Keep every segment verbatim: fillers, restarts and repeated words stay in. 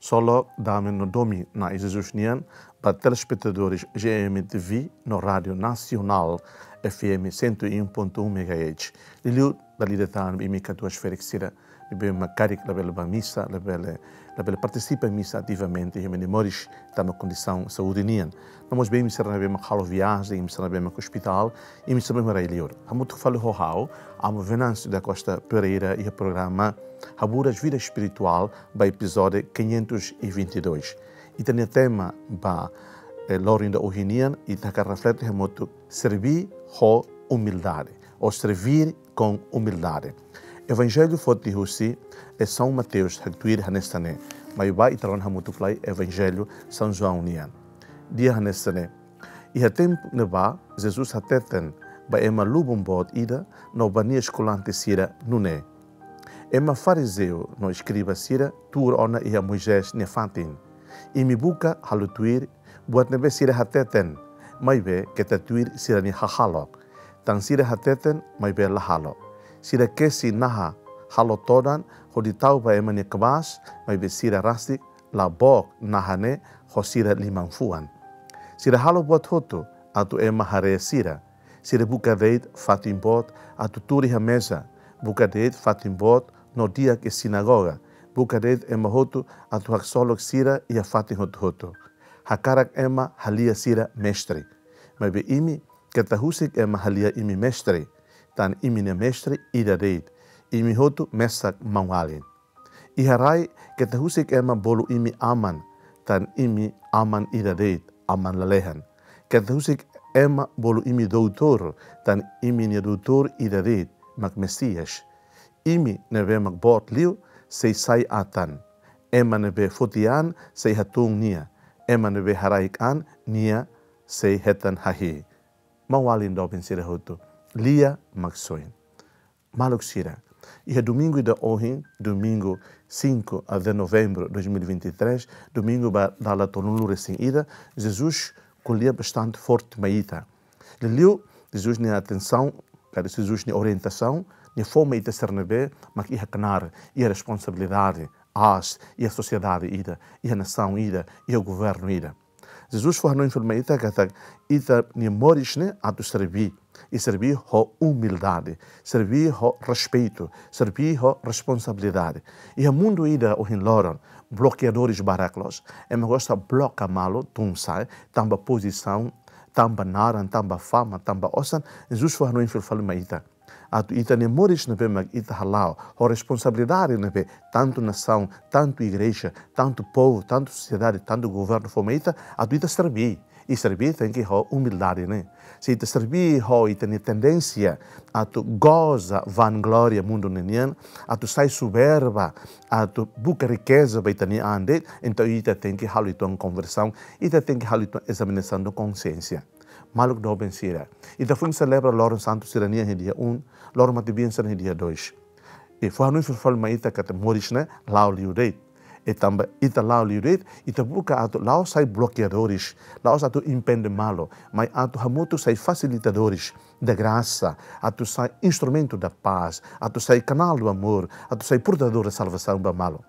Solok, dame no domin Na'i Jesus nian ba telespetadores G M T V no Rádio Nacional F M cento e um ponto um megahertz. Liuliu dala ida tan ba imi katuas-ferik sira ne'ebé mak karik labele bá misa, labele, labele partisipa misa ativamente, iha imi-nia moris tanba kondisaun saúde nian. No mós ba imi sira ne'ebé mak halo viajen, imi sira ne'ebé mak ospitál, imi sira ne'ebé rai-li'ur. Hamutuk fali ho ha'u, Amo Venâncio da Costa Pereira, iha programa Haburas Vida Espiritual ba epizódiu quinhentos e vinte e dois. Ita-nia tema ba, eh, loron ida ohin nian, ita hakarak reflete hamutuk: serví ho umildade, ou servir com humildade. Evanjellu foti husi, eh, São Mateus, haktuir hanesan ne'e. Mai bá ita rona hamutuk lai Evanjellu São João nian. Dehan hanesan ne'e: Iha tempu ne'ebá, Jesus hateten ba ema lubun boot ida no ba nia eskolante sira nune'e: Ema farizeu no eskriba sira tuur ona iha Moisés nia fatin. Imi buka halo tuir buat ne'ebé sira hateten, maibé keta tuir sira-nia hahalok. Tan sira hateten, maibé la halo. Sira kesi naha halo todan hodi tau ba ema nia kabaas, maibé sira rasik la book naha ne'e ho sira liman-fuan. Sira halo buat hotu atu ema haree sira. Sira buka de'it fatin boot atu tuur iha meza, buka de'it fatin boot no di'ak iha sinagoga, buka de'it ema hotu atu haksolok sira iha fatin hotu-hotu. Hakarak ema halia sira mestre. Maibé imi keta husik ema halia imi mestre, tan imi-nia mestre ida de'it. Imi hotu mesak maun-alin. Iha rai, keta husik ema bolu imi aman, tan imi aman ida de'it, aman lalehan. Keta husik ema bolu imi doutór, tan imi-nia doutór ida de'it, mak Mesias. Imi ne'ebé mak boot liu, sei sai atan. Ema ne'ebé foti an, sei hatún nia. Ema ne'ebé haraik an, nia sei hetan hahi'i. Maun-alin doben sira hotu, lia Maksoin. Maluk sira, iha domingu ida ohin, domingu cinco de novembro dois mil e vinte e três, domingu ba dala tolunulu-resin-ida, Jesus ko'alia bastante forte mai ita. Liuliu, Jesus nia atensaun, ka Jesus nia orientasaun, nia fó mai ita sira ne'ebé mak iha knaar, iha responsabilidade aas, iha sosiedade ida, iha nasaun ida, iha governu ida. Jesus fó hanoin fila mai ita katak ita-nia moris ne'e atu serví, i serví ho umildade, serví ho respeitu, serví ho responsabilidade. Iha mundu ida ohin loron, blokeadores barak loos. Ema gosta bloka malu tun sa'e, tanba pozisaun, tanba naran, tanba fama, tanba osan. Jesus fó hanoin fila fali mai ita atu ita-nia moris ne'ebé mak ita hala'o, ho responsabilidade ne'ebé tantu nasaun, tantu igreja, tantu povu, tantu sosiedade, tantu governu fó mai ita, atu ita serví. I serví tenke ho umildade ne'e. Se ita serví ho ita-nia tendénsia atu goza vanglória mundu ne'e nian, atu sai soberba, atu buka rikeza ba ita-nia an de'it, entaun ita tenke halo uitoan konversaun, ita tenke halo uitoan ezaminasaun de konxiénsia. Maluk doben sira, ita foin selebra loron santu sira-nian iha dia um, loron matebian sira-nian iha dia dois. I fó hanoin fila fali mai ita katak moris ne'e la'o liu de'it. I tanba ita la'o liu de'it, ita buka atu la'ós sai blokeadores, la'ós atu impede malu, mai atu hamutuk sai fasilitadores da graça, atu sai instrumento da paz, atu sai canal do amor, atu sai portador da salvação ba malu.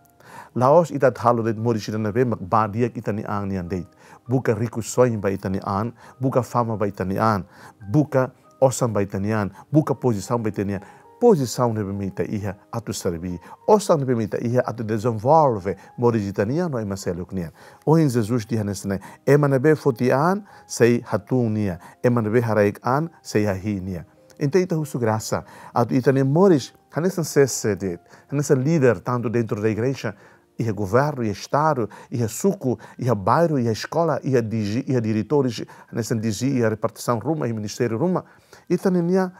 La'ós ita atu halo de'it moris ida ne'ebé mak bá di'ak ita-nia an nian de'it. Buka rikusoin ba ita-nia an, buka fama ba ita-nia an, buka osan ba ita-nia an, buka pozisaun ba ita-nia an. Pozisaun ne'ebé mak ita iha atu serví. Osan ne'ebé mak ita iha atu dezenvolve moris ita-nian no ema seluk nian. Ohin Jesus dehan hanesan ne'e: Ema ne'ebé foti an, sei hatún nia. Ema ne'ebé haraik an, sei hahi'i nia. Entaun ita husu grasa atu ita-nia moris hanesan C C de'it, hanesan líder tantu dentro da igreja, iha governu, iha estadu, iha suku, iha bairru, iha eskola, iha D G, iha diretores, hanesan D G, iha repartisaun ruma, iha ministériu ruma. Ita-nia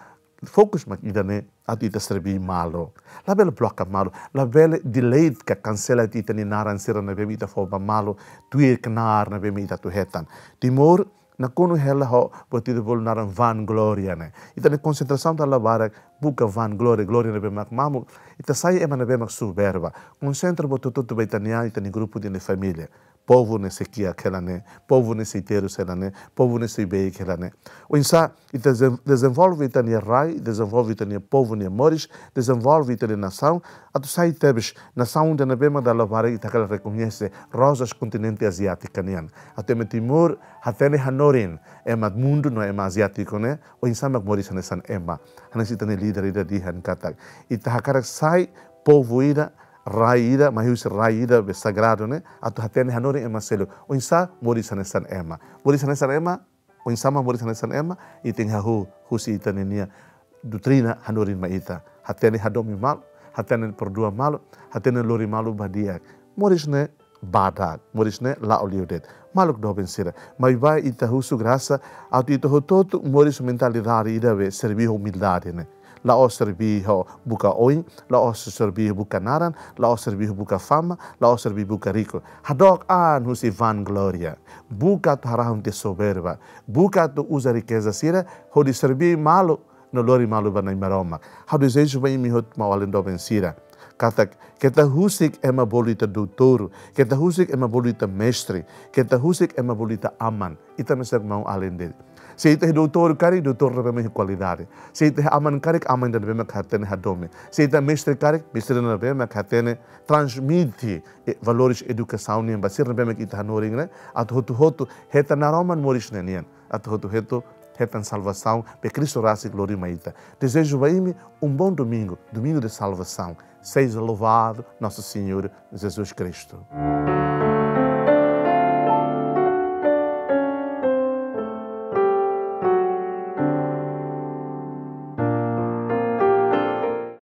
fokus mak ida-ne'e, atu ita serví malu. Labele bloka malu, labele delete ka kansela ita-nia naran sira ne'ebé mak ita fó ba malu, tuir knaar ne'ebé mak ita atu hetan. Timor nakonu hela ho buat ida bolu naran vanglória ne'e. Ita-nia konsentrasaun dala barak buka vanglória, glória ne'ebé mak mamuk, ita sai ema ne'ebé mak soberba. Konsentra buat hotu-hotu ba ita-nia an, ita-nia grupu, ita-nia família. Povu ne'e sei kiak hela ne'e, povu ne'e sei terus hela ne'e, povu ne'e sei beik hela ne'e. Oinsá ita dezen-, dezenvolve ita-nia rai, dezenvolve ita-nia povu nia moris, dezenvolve ita-nia nasaun, atu sai tebes nasaun ida ne'ebé mak dala barak ita hakarak rekoñese, rozas kontinente aziátika nian. Atu ema Timor hatene hanorin ema mundu no ema aziátiku ne'e, oinsá mak moris hanesan ema. Hanesan ita-nia líder ida dehan katak, ita hakarak sai povu ida, rai ida, mai husi rai ida be sagradu ne'e, atu hatene hanorin ema seluk. Oinsá moris hanesan ema. Moris hanesan ema, oinsá mak moris hanesan ema, ita tenke hahú husi ita-nia doutrina hanorin mai ita. Hatene hadomi malu, hatene perdua malu, hatene lori malu ba di'ak. Moris ne'e badak, moris ne'e la'o liu de'it. Maluk doben sira, maibé ita husu grasa, atu ita hotu-hotu moris mentalidade ida be serví ho umildade ne'e. La'ós serví ho buka oin, la'ós serví ho buka naran, la'ós serví ho buka fama, la'ós serví buka riku. Hadook an husi vanglória. Buka atu harahun tiha soberba. Buka atu uza rikeza sira hodi serví malu no lori malu ba Nai Maromak. Ha'u dezeja ba imi hotu maun-alin doben sira katak, keta husik ema bolu ita doutór, keta husik ema bolu ita mestre, keta husik ema bolu ita aman. Ita mesak maun-alin de'it. Se ita iha doutór karik, doutór ne'ebé mak iha kualidade. Se ita iha aman karik, aman ida ne'ebé mak hatene hadomi. Se ita mestre karik, mestre ida ne'ebé mak hatene transmite, eh, valores edukasaun nian ba sira ne'ebé mak ita hanorin ne'e, atu hotu-hotu hetan naroman moris ne'e nian. Atu hotu-hotu hetan salvasaun be Kristu rasik lori mai ita. Dezeja ba imi um bom domingo, domingo de salvação. Seja louvado nosso Senhor Jesus Cristo.